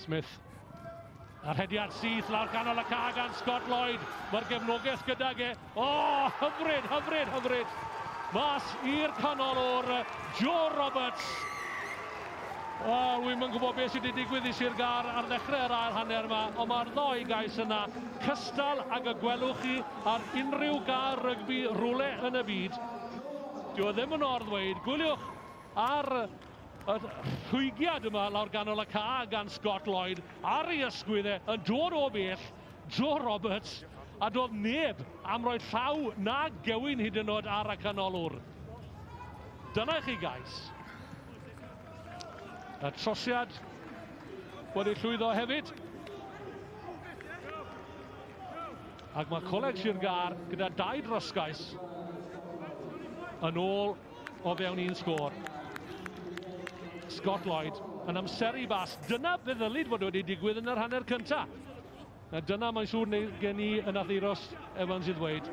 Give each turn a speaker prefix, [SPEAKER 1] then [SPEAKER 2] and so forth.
[SPEAKER 1] Smith. A'r rhediad syth lawr ganol y ca gan Scott Lloyd. Mae'r gefnogaeth gydag e. O, oh, hyfryd, hyfryd, hyfryd. Mas i'r canol o'r Joe Roberts. O, oh, wi'm yn gwybod beth sydd wedi digwydd i Sir Gâr ar ddechrau yr ail hanner yma, ond mae'r ddoi gais yna cystal ag y gwelwch chi ar unrhyw gâr rygbi rhywle yn y byd. Dyw e ddim yn or-ddweud. Gwyliwch ar y rhwygiad yma lawr ganol y ca gan Scott Lloyd ar ei ysgwydd e yn dod o bell, Joe Roberts, a doedd neb am roi llaw na gewyn hyd yn oed ar y canolwr. Dyna i chi gais. Y trosiad wedi llwyddo hefyd. Ac mae Coleg Sir Gâr gyda dau drosgais yn ôl o fewn un sgôr. Scott Lloyd yn amseru bas. Dyna be ddylid fod wedi digwydd yn yr hanner cyntaf. Na dyna mae'n siŵr neu gen i yn Euros Evans i ddweud.